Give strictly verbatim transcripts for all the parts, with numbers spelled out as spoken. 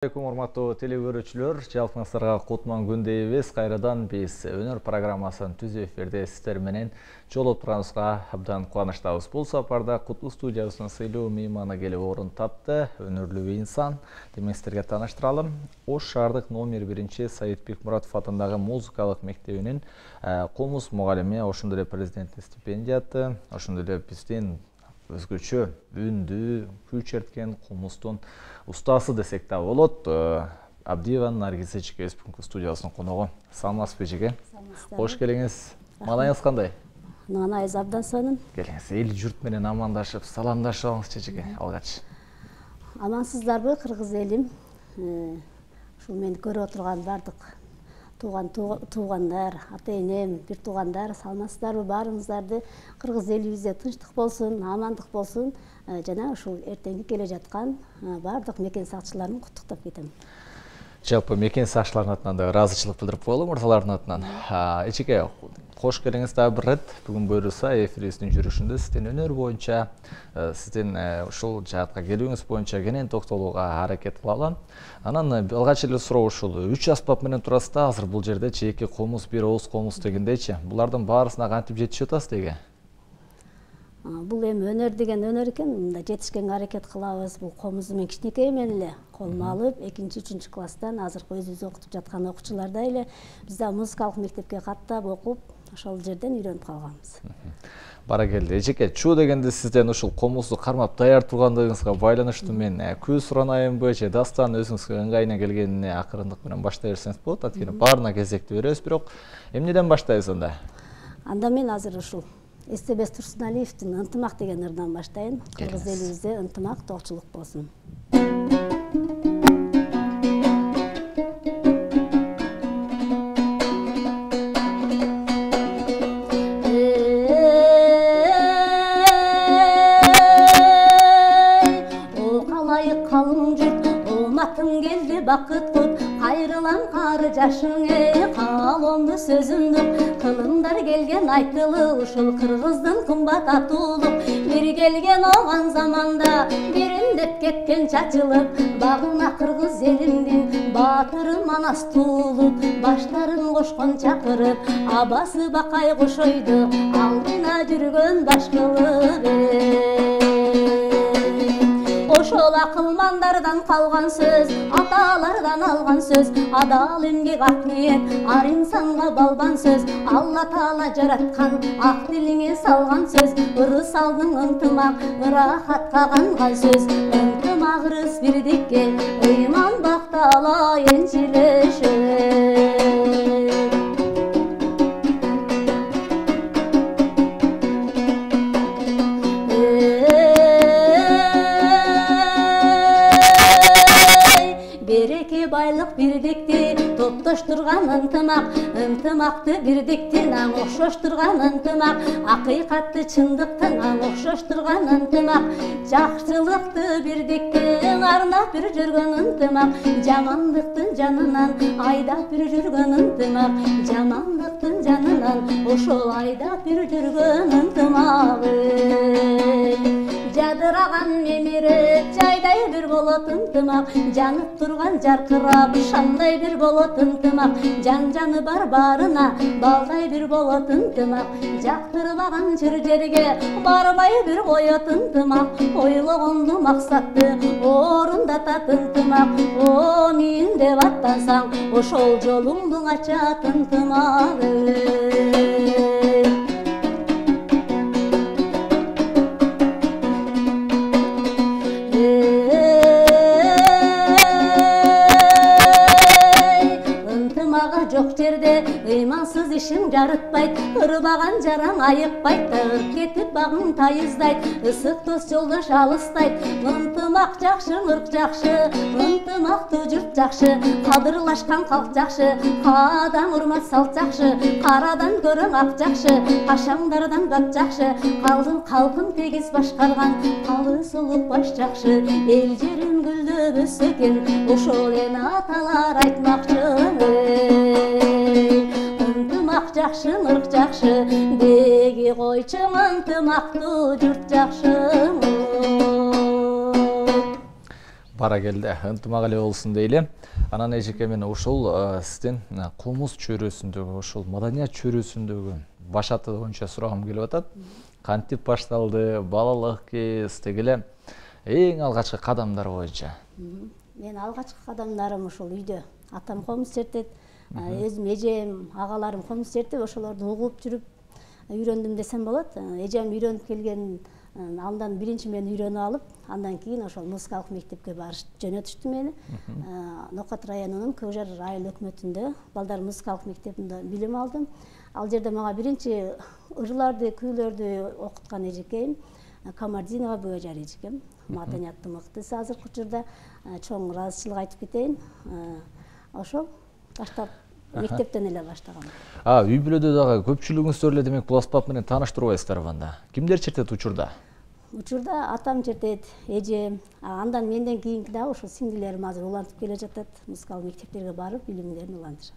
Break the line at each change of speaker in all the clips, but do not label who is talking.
Assalamu alaikum урматтуу телегөрүүчүлөр, жалпыңыздарга кутман күн дейбиз. Кайрадан биз өнөр программасын түзүү эфирде сиздер менен жолугуп турганыбызга абдан кубанычтабыз. Бул сапарда Куттуу студиясынын сыйлуу мейманы келип орун тапты. Өнөрлүү инсан, демек сиздерге тааныштыралым. Ош шаардык номер биринчи Саид Бекмуратов атындагы музыкалык мектебинин комуз мугалими, ошондой эле президенттик стипендияты, ошондой эле биздин өзгөчө үндү, күй черткен комуздун устасы десек да болот. Абдиева Наргиз эжеке бүгүнкү студиябыздын коногу. Саламатсызбы эжеке? Кош келиңиз. Маанайыңыз кандай?
Маанайыңыз абдан сонун.
Келиңиз, эл журт менен амандашып, саламдашып алыңызчы эжеке, алгач.
Амансыздарбы, кыргыз элим? Ушул мени көрүп отурган бардык тууган туугандар, ата-энем, бир туугандар, саламатсыздарбы? Баарыңыздарды кыргыз элибизде тынчтык болсун, амандык болсун, жана ушул эртеңки келе жаткан бардык мекен сакчыларын куттуктап кетем.
Жалпы мекен сакчыларынын атынан да ыраазычылык билдирип коелу, мырзалардын атынан. Эжеке, кош келиңиз дагы бир ирет. Бүгүн буюрса эфирибиздин жүрүшүндө сиздин өнөр боюнча, сиздин ушул жаатка келүүңүз боюнча кенен токтолууга аракет кылалы. Анан алгач эле суроо ушул үч аспап менен турасыз да, азыр бул жерде эки комуз, бир ооз комуз дегендейчи. Булардын баарысына кантип жетишип атасыз деге?
Бул эми өнөр деген өнөр экен, мында жетишкенге аракет кылабыз. Бул комузду мен кичинекей менен эле колума алып, экинчи үчүнчү класстан азыркы өзүбүз окутуп жаткан окуучулардай эле биз да музыкалык мектепке каттап окуп, ошол жерден үйрөнүп калганбыз.
Баракелде. Эжеке, чуу дегенде сизден ушул комузду кармап даяр тургандыгыңызга байланыштуу мен күү суранайынбы, же дастан өзүңүзгө ыңгайына келгенине акырындык менен баштай берсеңиз болот. Анткени баарына кезекти беребиз, бирок эмнеден баштайбыз анда?
Анда мен азыр ушул Эстебес Турсуналиевдин «Ынтымак» деген ырынан баштайын. Кыргыз элибизде ынтымак, тоокчулук болсун. О калайык калың жұрт, ооматың келди бакыт кут, кайрылам кары жашыңе, каалоомду сөзүмдү кылымдар келген айтылы, ушул кыргыздын кымбат атуулук. Бир келген оган заманда, бириндеп кеткен чачылып, багына кыргыз элимдин баатыры Манас туулуп, баштарын кошкон чакырып, абасы Бакай кошойду, алдына жүргөн баш кылып. Ошол акылмандардан калган сөз, аталардан алган сөз, адал эмгек ак ниет, ар инсанга балбан сөз, Алла Таала жараткан, ак тилиңе салган сөз, ырыс алдың ынтымак, ырахатка канган сөз, ынтымак ырыс бирдикке, ыйман бактала энчилешет. Байлык бирдикти топтоштурган ынтымак, ынтымакты бирдиктин аң окшоштурган ынтымак, акыйкатты чындыктын аң окшоштурган ынтымак, жакшылыкты бирдиктин арнап бир жүргөн ынтымак, жамандыктын жанынан айдап бир жүргөн ынтымак, жамандыктын жанынан ошол айдап бир жүргөн ынтымак. Жадыраган мемире жайдай бир болот ынтымак, жанып турган жаркырап шандай бир болот ынтымак, жан жаны бар баарына балдай бир болот ынтымак, жактырбаган жер жерге барбай бир коет ынтымак, ойлогонду максатты орундатат ынтымак, омин деп аттансаң ошол жолуңду ачат ынтымак. Жок жерде ыймансыз ишин жарытпайт, ырбаган жараң айыкпайт, тагып кетип багың тайыздайт, ысык дос жолдош алыстайт. Ынтымак жакшы, ырк жакшы, ынтымактуу журт жакшы, кадырлашкан калк жакшы, каадан урмат салт жакшы, карадан көрөң ак жакшы, кашаңдардан бат жакшы, калдын калкын тегиз башкарган калы солук баш жакшы, эл жерин гүлдөп өссөкен, ошол эне аталар айтмакчы. Ынтымак жакшы, ырк жакшы, деги койчу ынтымактуу журт жакшы.
бара келди. Ынтымак эле болсун дейли. Анан эжеке мен ушул сиздин комуз чөйрөсүндөгү ушул маданият чөйрөсүндөгү башаты боюнча сурагым келип атат. Кантип башталды, балалык кез, тегеле эң алгачкы кадамдар боюнча?
Мен алгачкы кадамдарым ушул үйдө. Атам комуз чертет, өзүм эжем, агаларым комуз чертип, ошолорду угуп жүрүп үйрөндүм десем болот. Эжем үйрөнүп келген, андан биринчи мен үйрөнүп алып, андан кийин ошол музыкалык мектепке барыш жөнөтүштү мени. Нокат районунун Көк Жар айыл өкмөтүндө балдар музыкалык мектебинде билим алдым. Ал жерде мага биринчи ырларды, күйлөрдү окуткан эжекейим Камардинова Бөөжар эжекем. Маданияттын мыктысы азыркы учурда, чоң ыраазычылык айтып кетейин. Ошол баштап мектептен эле баштагам.
А, үй бүлөдө дагы көпчүлүгүңүздөр эле демек бул аспап менен тааныштырбайсыздарбы анда? Кимдер чертет учурда?
Учурда атам чертет, эжем, андан менден кийинки дагы ошол сиңдилерим азыр улантып келе жатат, музыкалык мектептерге барып билимдерин улантышат.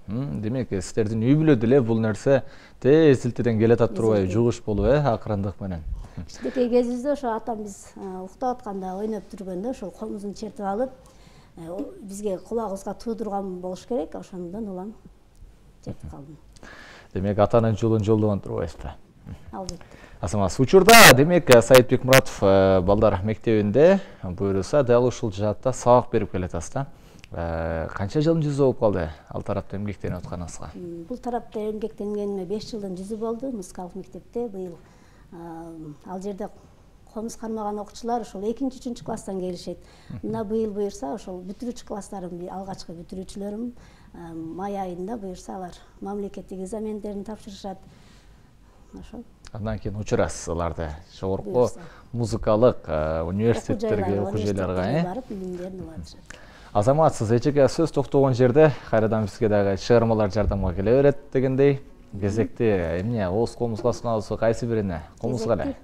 Демек, сиздердин үй бүлөдө эле бул нерсе тез илтеден келе атат турбайбы, жугуш болуп, э, акырындык менен.
Кичинекей кезибизде ошо атам биз уктап атканда, ойноп жүргөндө ошол комузун чертип алып, бизге кулагыбызга туудурган болуш керек, ошондон улам чертип калдым.
Демек, атанын жолун жолдогон турбайсызбы?
Албетте.
Асамас, учурда демек Саитбек Муратов балдар мектебинде буюрса, дал ушул жаатта сабак берип келатасыз да. Канча жылдын жүзү болуп калды ал тарапта эмгектенип атканыңызга?
Бул тарапта эмгектенгениме беш жылдын жүзү болду. Музыкалык мектепте быйыл ал жерде комуз кармаган окуучулар ошол экинчи үчүнчү класстан келишет. Мына быйыл буюрса ошол бүтүрүүчү класстарым, алгачкы бүтүрүүчүлөрүм май айында буюрса алар мамлекеттик экзамендерин тапшырышат. Ошол.
Андан кийин учурасыз аларды жогорку музыкалык университеттерге, окуу жайларга
барып билимдерин улантышат.
Азамат, сиз эчеге сөз токтогон жерде кайрадан бизге дагы чыгармалар жардамга келе берет дегендей. Кезекти эмне, ооз комузга суналсы кайсы бирине? Комузга эле.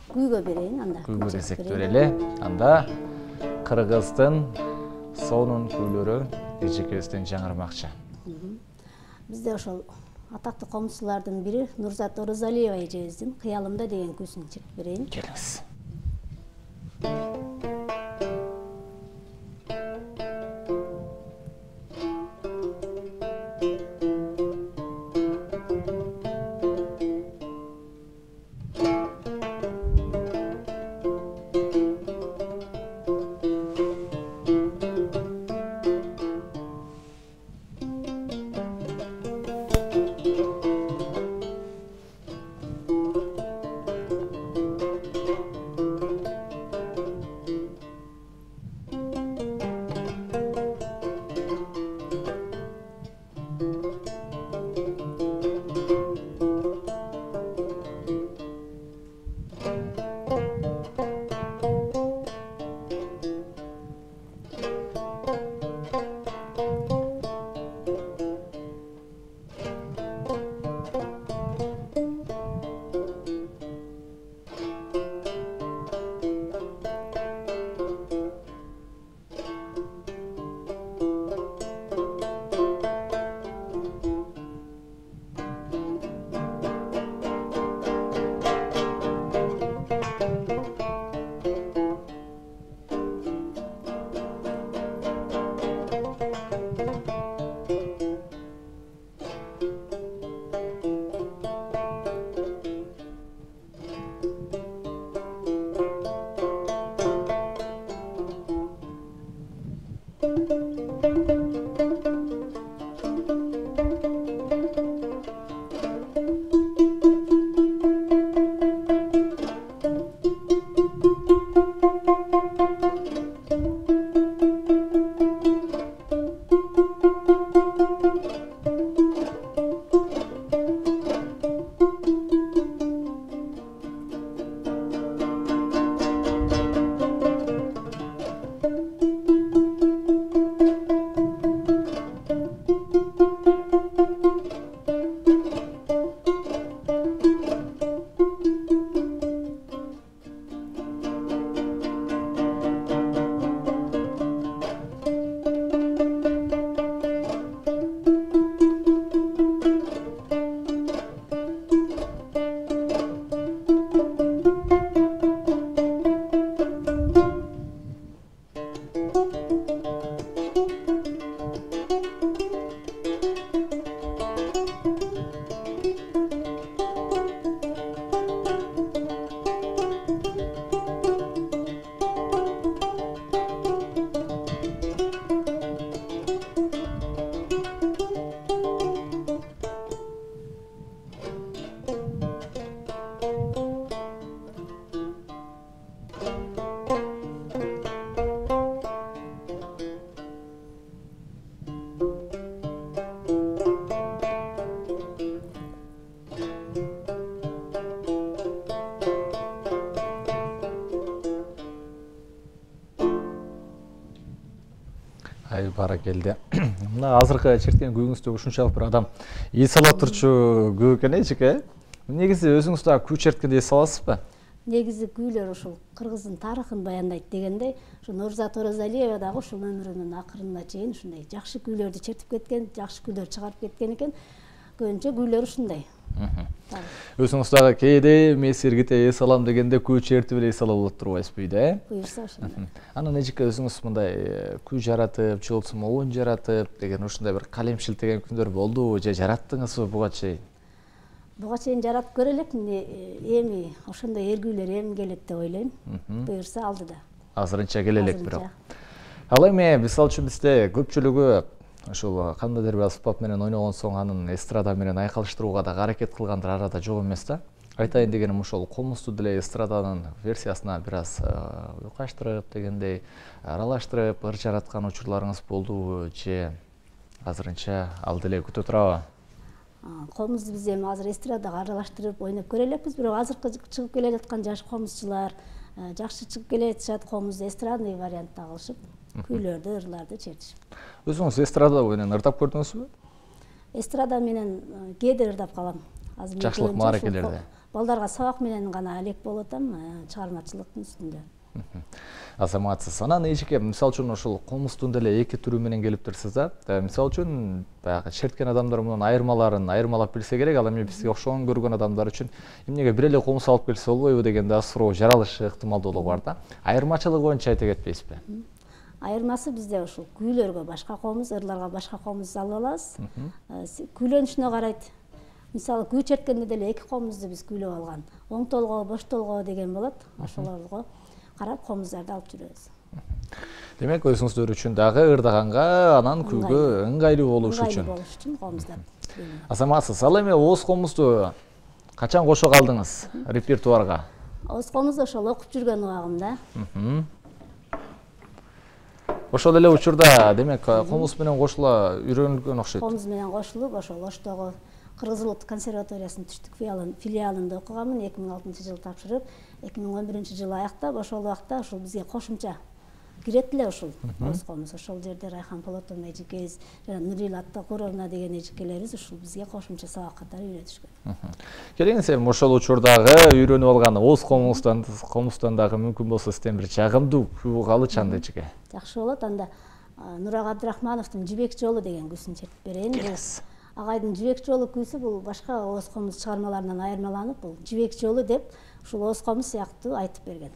Күйгө берейин анда.
Күйгө кезекти берели. Анда Кыргыздын сонун күйлөрү эжекебизден жаңырмакчы.
Бизде ошол атактуу комузчулардын бири Нурзат Орозалиева эжебиздин Кыялымда деген күйсүн чертип берейин.
Келиңиз. Ай баракелде. Мына азыркы черткен күүңүздө ушунчалык бир адам эс ала турчу күү экен эжеке. Негизи өзүңүз дагы күү черткенде эс аласызбы?
Негизи күүлөр ушул кыргыздын тарыхын баяндайт дегендей, ушу Нурзат Оразалиева дагы ушул өмүрүнүн акырына чейин ушундай жакшы күүлөрдү чертип кеткен, жакшы күүлөр чыгарып кеткен экен. Көбүнчө күүлөр ушундай.
Өзүңүз дагы кээде месиргите эс алам дегенде күү чертип эле эс ала болот турбайсызбы үйдө, э?
Буюрса ошондой.
Анан эжеке өзүңүз мындай күү жаратып, же болбосо оюн жаратып деген ушундай бир калем шилтеген күндөр болдубу, же жараттыңызбы буга чейин?
Буга чейин жаратып көрө элекмин, эми ошондой эргүүлөр эми келет деп ойлойм. Буюрса алдыда.
Азырынча келе элек бирок. Ал эми мисалы үчүн бизде көпчүлүгү ошол кандайдыр бир аспап менен ойногон соң анын эстрада менен айкалыштырууга да аракет кылгандыр арада жок эмес да. Айтайын дегеним ошол комузду деле эстраданын версиясына бир аз уйкаштырып дегендей аралаштырып ыр жараткан учурларыңыз болдубу, же азырынча ал деле күтө турабы?
Комузду биз эми азыр эстрадага аралаштырып ойноп көрө элекпиз, бирок азыркы чыгып келе жаткан жаш комузчулар жакшы чыгып келе жатышат, комузду эстрадный вариантта кылышып, күүлөрдү, ырларды чертишип.
Өзүңүз эстрада менен ырдап көрдүңүзбү?
Эстрада менен кээде ырдап калам. Азыр
жакшылык мааракелерде.
Балдарга сабак менен гана элек болуп атам, чыгармачылыктын үстүндө.
Азаматсыз. Анан эжеке, мисалы үчүн ошол комуздун деле эки түрү менен келиптирсиз да. Мисалы үчүн баягы черткен адамдар мунун айырмаларын айырмалап билсе керек, ал эми бизге окшогон көргөн адамдар үчүн эмнеге бир эле комуз алып келсе болбойбу деген да суроо жаралышы ыктымалдуулугу бар да. Айырмачылыгы боюнча айта кетпейсизби?
Айырмасы бизде ушул күүлөргө башка комуз, ырларга башка комуз алып алабыз. Күйлөнүшүнө карайт. Мисалы күү черткенде деле эки комузду биз күйлөп алган. Оң толгоо, бош толгоо деген болот. Ошолорго карап комуздарды алып жүрөбүз.
Демек өзүңүздөр үчүн дагы ырдаганга, анан күүгө ыңгайлуу болуш үчүн.
Ыңгайлуу болуш үчүн комуздар.
Азаматсыз, ал эми ооз комузду качан кошо калдыңыз репертуарга?
Ооз комузду ошол окуп жүргөн убагымда.
Ошол эле учурда демек комуз менен кошула үйрөнүлгөн окшойт.
Комуз менен кошулуп, ошол Оштогу Кыргыз Улуттук консерваториясынын түштүк филиалында окуганмын. эки миң алтынчы жылы тапшырып, эки миң он биринчи жылы аяктап, ошол убакта ушул бизге кошумча кирет эле ушул ооз комуз. Ошол жерде Райхан Полотовна эжекебиз жана Нурил Аттакуровна деген эжекелерибиз ушул бизге кошумча сабак катары үйрөтүшкөн.
Келиңиз эми ошол учурдагы үйрөнүп алган ооз комуздан комуздан дагы мүмкүн болсо сизден бир жагымдуу күү калычы анда эжеке.
Жакшы болот. Анда Нурак Абдрахмановдун Жибек жолу деген күүсүн чертип берейин. Агайдын Жибек жолу күүсү бул башка ооз комуз чыгармаларынан айырмаланып, бул Жибек жолу деп ушул ооз комуз сыяктуу айтып берген.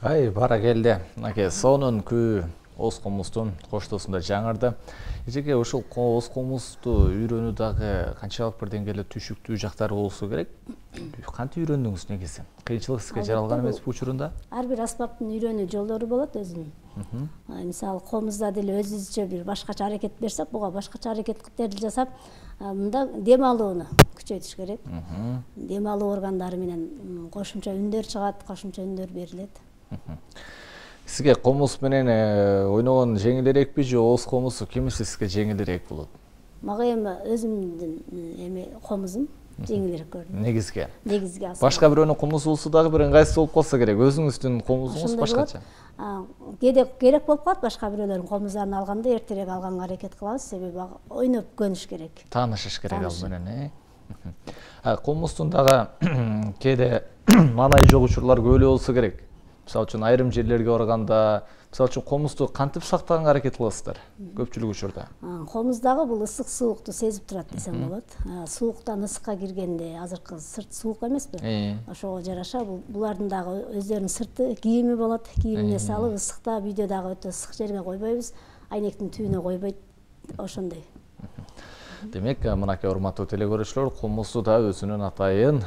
Ай, бара келди. Аке, сонун күү Оз комуздун коштоосунда жаңырды. Эжеке, ушул Оз комузду үйрөнүү дагы канчалык бир деңгээлде түшүктүү жактары болсо керек? Кантип үйрөндүңүз негизи? Кыйынчылык сизге жаралган эмеспи учурунда?
Ар бир аспаптын үйрөнүү жолдору болот өзүнүн. Мисалы, комузда деле өзүбүзчө бир башкача аракет берсек, буга башкача аракеттерди жасап, мында дем алууну күчөйтүш керек. Дем алуу органдары менен кошумча үндөр чыгат, кошумча үндөр берилет.
Сизге комуз менен ойногон жеңилирээкпи же Оз комузу кимиси сизге жеңилирээк болот?
Мага эми өзүмдүн эми комузум жеңилирээк көрүнөт.
Негизге.
Негизге асыл.
Башка бирөөнүн комузу болсо дагы бир ыңгайсыз болуп калса керек. Өзүңүздүн комузуңуз башкача.
Кээде керек болуп калат, башка бирөөлөрдүн комуздарын алганда эртерээк алганга аракет кылабыз, себеби ойноп көнүш керек.
Таанышыш керек ал менен, э? Комуздун дагы кээде маанайы жок учурлар көп эле болсо керек. Мисалы үчүн айрым жерлерге барганда, мисалы үчүн комузду кантип сактаганга аракет кыласыздар көпчүлүк учурда?
Комуздагы бул ысык суукту сезип турат десем болот. Сууктан ысыкка киргенде, азыркы сырт суук эмеспи? Ошого жараша булардын дагы өздөрүнүн сырты кийими болот. Кийимине салып, ысыкта үйдө дагы өтө ысык жерге койбойбуз. Айнектин түбүнө койбойт. Ошондой.
Демек, мынакей урматтуу телекөрүүчүлөр, комузду да өзүнүн атайын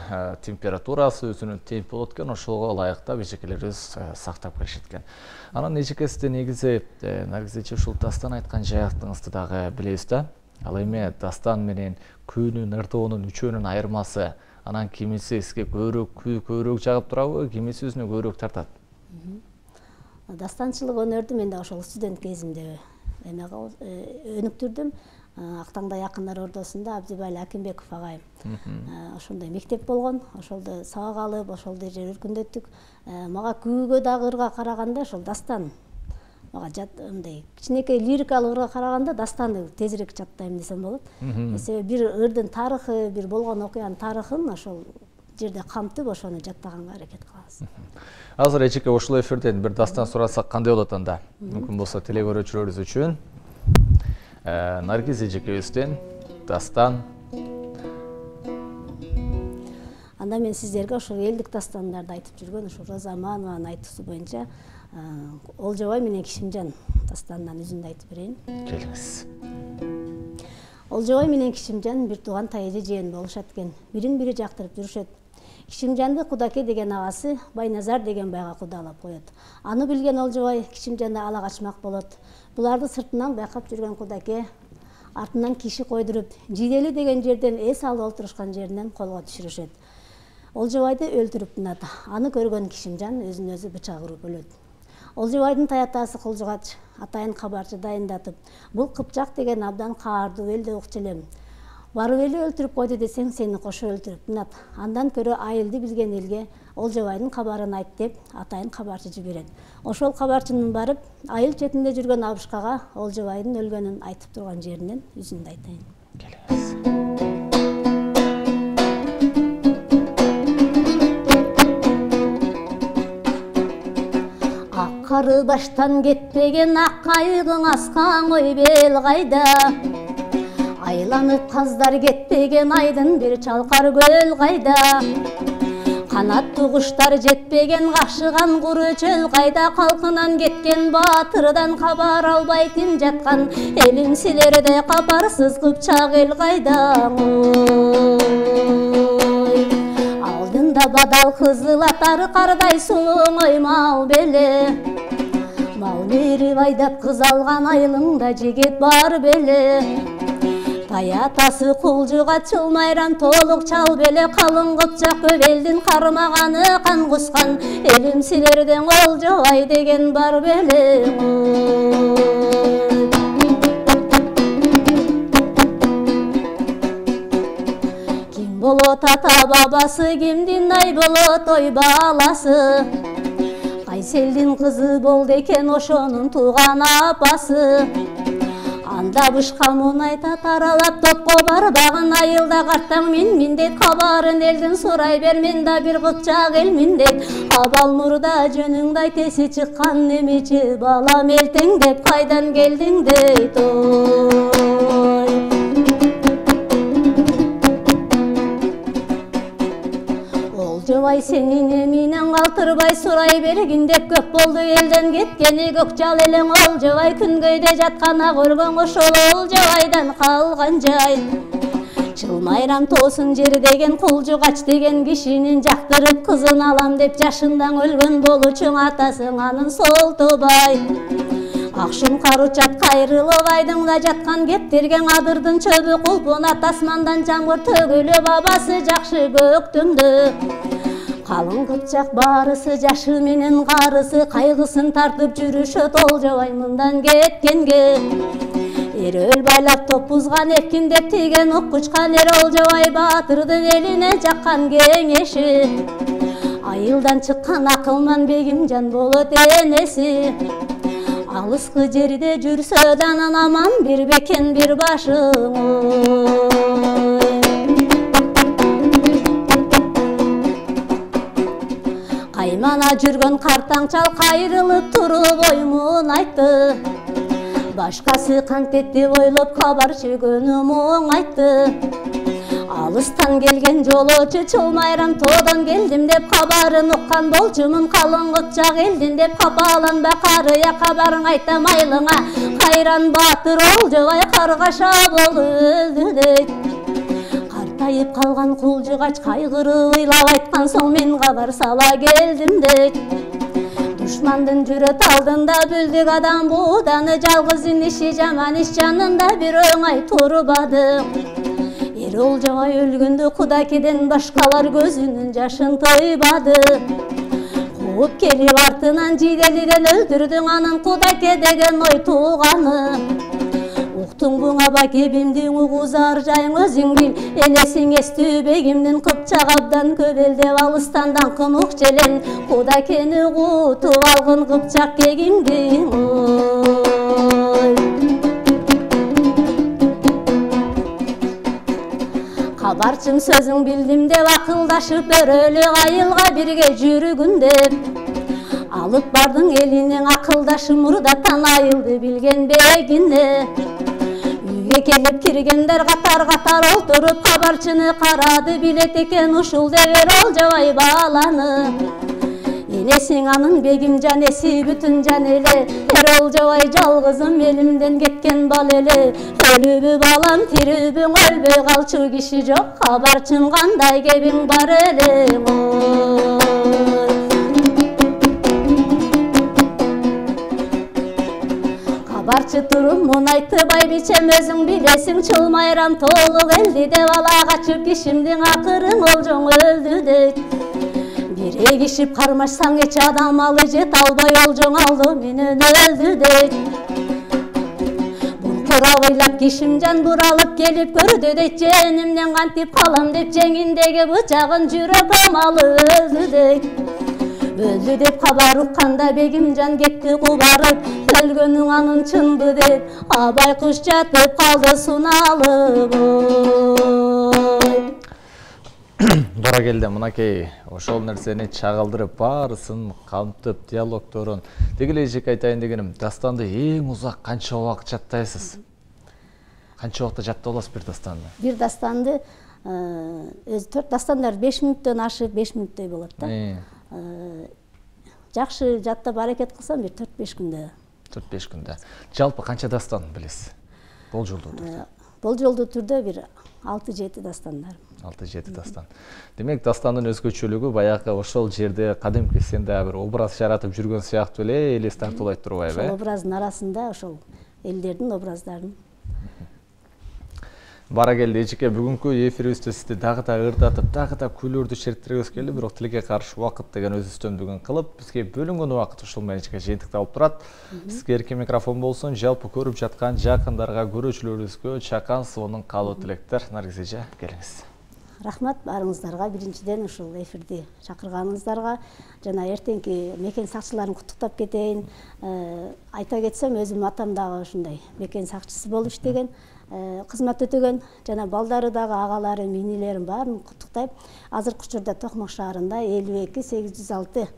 температурасы, өзүнүн темпи болот экен, ошого ылайыктап эжекелерибиз сактап келишет экен. Анан эжеке, сизде негизи Наргизече ушул дастан айткан жаактыңызды дагы билебиз да. Ал эми дастан менен күүнүн, ырдоонун үчөөнүн айырмасы, анан кимиси сизге көбүрөөк күү көбүрөөк жагып турабы, кимиси өзүнө көбүрөөк тартат?
Дастанчылык өнөрдү мен да ошол студент кезимде эмеге өнүктүрдүм. Актаңдай акындар ордосунда Абдибали Акимбеков агайым ошондой мектеп болгон, ошолдо сабак алып, ошолдой жер өркүндөттүк. Мага күүгө дагы ырга караганда ошол дастан мага жат мындай кичинекей лирикалык ырга караганда дастанды тезирээк жаттайм десем болот. Себеби бир ырдын тарыхы, бир болгон окуянын тарыхын ошол жерде камтып, ошону жаттаганга аракет кылабыз.
Азыр эжеке ушул эфирден бир дастан сурасак кандай болот анда? Мүмкүн болсо телекөрүүчүлөрүбүз үчүн Наргиз эжекебизден дастан.
Анда мен сиздерге ошол элдик дастандарды айтып жүргөн ошол Роза Аманованын айтуусу боюнча Олжобай менен Кишимжан дастанынан үзүндү айтып берейин.
Келиңиз.
Олжобай менен Кишимжан бир тууган тайэже жээн болушат экен. Бирин бири жактырып жүрүшөт. Кишимжанды Кудаке деген агасы Байназар деген байга кудалап коет. Аны билген Олжобай Кишимжанды ала качмак болот. Буларды сыртынан байкап жүргөн Кудаке артынан киши койдуруп, Жидели деген жерден эс алып олтурушкан жеринен колго түшүрүшөт. Олжобайды өлтүрүп тынат. Аны көргөн Кишимжан өзүн өзү бычак уруп өлөт. Олжобайдын таятасы Кулжугач атайын кабарчы дайындатып, бул Кыпчак деген абдан каардуу элде укчу элем. Барып эле өлтүрүп койду десең, сени кошо өлтүрүп тынат. Андан көрө айылды билген элге Олжобайдын кабарын айт деп атайын кабарчы жиберет. Ошол кабарчынын барып, айыл четинде жүргөн абышкага Олжобайдын өлгөнүн айтып турган жеринен үзүндү айтайын.
Келиңиз.
Ак кары баштан кетпеген ак кайыгың аскан ой бел кайда? Айланып каздар кетпеген айдын бир чалкар көл кайда? Канаттуу куштар жетпеген кашыган куру чөл кайда? Калкынан кеткен баатырдан кабар албай ким жаткан? Элим силерде капарсыз Кыпчак эл кайда? Алдында бадал кызыл атар кардай сулуң ой мал беле. Мал берип айдап кыз алган айылыңда жигит бар беле. Таятасы Кулжугач майрам толук чал беле. Калың Кыпчак көп элдин кармаганы кан кускан. Элим силерден Олжобай деген бар беле. Ким болот ата бабасы, кимдин ай болот ой баласы? Кайсы элдин кызы болду экен ошонун тууган апасы? анда бышка мунайта таралап топко барбаган айылда карттаң мин мин дейт, кабарын элдин сурай бер, мен да бир кыпчак элмин дейт. Абал мурда жөнүңдү айт, эси чыккан немечи балам элтең деп, кайдан келдиң дейт. Ой Олжобай сенин эминен калтырбай сурай бергин деп, көп болду элден кеткени көк жал элең. Олжобай күнгөйдө жаткан ак өлгөн ошол Олжобайдан калган жай. Чылмайрам тоосун жер деген, кулжугач деген кишинин жактырып кызын алам деп, жашындан өлгөн болучуң атасың анын Солтобай. Акшым каручат кайрылып айдыңда жаткан кептерген, адырдын чөбү кулпунат, асмандан жамгыр төгүлүп, бабасы жакшы көктөмдө. Калың кыпчак баарысы жашы менен карысы, кайгысын тартып жүрүшөт Олжобай мындан кеткенге. Эрөл байлап топузган эпкин деп тийген оқ кучкан эр, Олжобай баатырдын элине жаккан кеңеши. Айылдан чыккан акылман Бегимжан болот энеси. Алыскы жерде жүрсө данан аман бир бекен бир башың. Каймана жүргөн картаң чал кайрылып туруп оймун айтты. Башкасы кантет деп ойлоп кабарчы көнүм айтты. Алыстан келген жолоочу Чылмайрам тоодон келдим деп, кабарын уккан болчумун калың кыпчак элдин деп, капаланба карыя кабарың айтам айлыңа. Кайран баатыр Олжобай каргаша болду дейт. Картайып калган кулжугач кайгырып ыйлап айткан соң, мен кабар сала келдим дейт. Душмандын жүрөт алдында бүлдүк адам бууданы, жалгыздын иши жаман иш жанында бир оңай турбады. Эр Олжобай өлгөндө Кудакеден башкалар көзүнүн жашын тыйбады. Кууп келип артынан жиделиден өлтүрдүң анын Кудаке деген ой тууганы. Уктуң буңа бакебимдин угузар жайың өзүң бил, энесиң эстүү Бегимдин кыпчак абдан көбөлдеп алыстан даңкын ук желен, Кудакени кутуп алгын кыпчак кегиңди. Кабарчым сөзүң билдим деп, акылдашып өрөлүк айылга бирге жүрүгүн деп. Алып бардың элинең акылдашы мурдатан айылды билген Бегине. Үйгө келип киргендер катар-катар олтуруп, кабарчыны карады билет экен ушул дебер Олжобай баланы. Энесиң анын Бегимжан эси бүтүн жан эле, эр Олжобай жалгызым элимден кеткен бал эле. Өлүбү балам тирүүбүң өлбөй калчу киши жок, кабарчым кандай кебиң бар эле. Кабарчы туруп мун айтты байбичем, өзүң билесиң Чылмайрам толук элди деп, ала качып кишимдин акырын Олжоң өлдү дейт. Бире кишип кармашсаң эч адам алы жет албай, Олжоң алды менен өлдү дейт. Буркурап ыйлап Кишимжан буралып келип көрдү дейт, женимден кантип калам деп, жеңиндеги бычагын жүрөк амалы өлдү дейт. Өлдү деп кабар укканда Бегимжан кетти кубарып, өлгөнүң анын чынбы деп, абай куш жатып калды суналып.
Туура келди, мынакей ошол нерсени чагылдырып, баарысын камтып, диалогторун деги эле эжек айтайын дегеним, дастанды эң узак канча убакыт жаттайсыз? Канча убакытта жаттап аласыз бир дастанды?
Бир дастанды өзү төрт дастандар беш мүнөттөн ашып беш мүнөттөй болот да. Жакшы жаттап аракет кылсам бир төрт беш күндө.
төрт беш күндө. Жалпы канча дастан билесиз? Бул жолдуу түрдө?
Бул жолдуу түрдө бир алты жети дастандар.
алты жети дастан. Демек дастандын өзгөчөлүгү баягы ошол жерде кадимки сен дагы бир образ жаратып жүргөн сыяктуу эле элес тартуулайт турбайбы?
Ошол образдын арасында ошол элдердин образдарын.
Бара келди эжеке, бүгүнкү эфирибизде сизди дагы да ырдатып, дагы да күлөрдү шерттиргибиз келди, бирок тилекке каршы убакыт деген өз үстөмдүгүн кылып, бизге бөлүнгөн убакыт ушул менен эжеке жыйынтыкталып турат. Сизге эркин микрофон болсун, жалпы көрүп жаткан жакындарга, көрүүчүлөрүбүзгө чакан сонун каалоо тилектер. Наргиз эже, келиңиз.
рахмат баарыңыздарга, биринчиден ушул эфирди чакырганыңыздарга. Жана эртеңки мекен сакчыларын куттуктап кетейин. Айта кетсем, өзүм атам дагы ушундай мекен сакчысы болуп иштеген, кызмат өтөгөн, жана балдары дагы, агалары, минилерин баарын куттуктайм. Азыркы учурда Токмок шаарында элүү эки сегиз жүз алты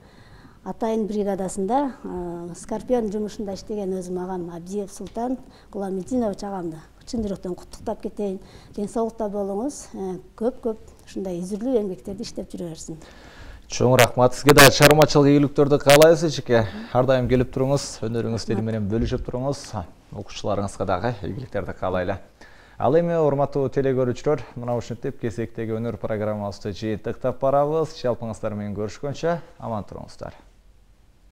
атайын бригадасында Скорпион жумушунда иштеген өзүм агам Абдиев Султан Куламидинович агамды чын жүрөктөн куттуктап кетейин. Ден соолукта болуңуз, көп-көп ушундай изилдүү эмгектерди иштеп жүрө берсин.
Чоң рахмат. Сизге да чыгармачылык ийгиликтөрдү каалайбыз эчеке. Ар дайым келип туруңуз, өнөрүңүз менен бөлүшүп туруңуз. Окуучуларыңызга дагы ийгиликтерди каалайлы. Ал эми урматтуу телекөрүүчүлөр, мына ушинтип кезектеги өнөр программабызды жыйынтыктап барабыз. Жалпыңыздар менен көрүшкөнчө аман туруңуздар.